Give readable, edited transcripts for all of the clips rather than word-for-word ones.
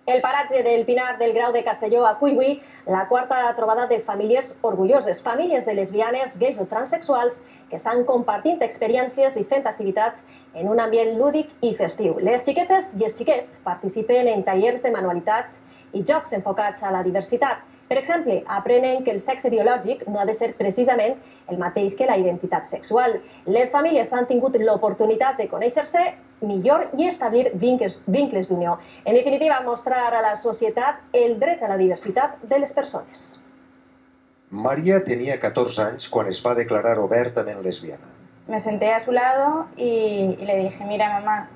El paratge del Pinar del Grau de Castelló acull avui la quarta trobada de famílies orgulloses, famílies de lesbianes, gais o transexuals que estan compartint experiències i fent activitats en un ambient lúdic i festiu. Les xiquetes i els xiquets participen en tallers de manualitats i jocs enfocats a la diversitat. Per exemple, aprenen que el sexe biològic no ha de ser precisament el mateix que la identitat sexual. Les famílies han tingut l'oportunitat de conèixer-se millor i establir vincles d'unió. En definitiva, mostrar a la societat el dret a la diversitat de les persones. María tenía 14 años cuando es va declarar obertament lesbiana. Me senté a su lado y le dije, mira mamá,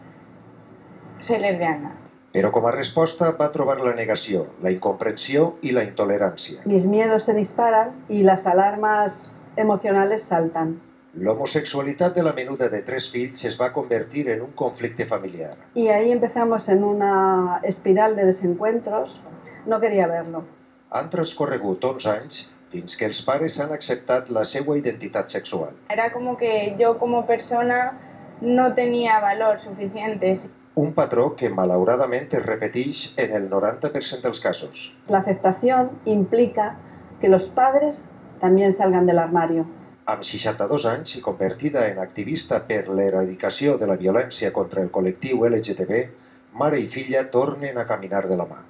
soy lesbiana. Però com a resposta va trobar la negació, la incomprensió i la intolerància. Mis miedos se disparan y las alarmas emocionales saltan. L'homosexualitat de la menuda de 3 fills es va convertir en un conflicte familiar. Y ahí empezamos en una espiral de desencuentros. No quería verlo. Han transcorregut 11 anys fins que els pares han acceptat la seva identitat sexual. Era como que yo como persona no tenía valor suficiente. Un patró que malauradament es repeteix en el 90% dels casos. La aceptación implica que los padres también salgan del armario. Amb 62 anys i convertida en activista per l'erradicació de la violència contra el col·lectiu LGTB, mare i filla tornen a caminar de la mà.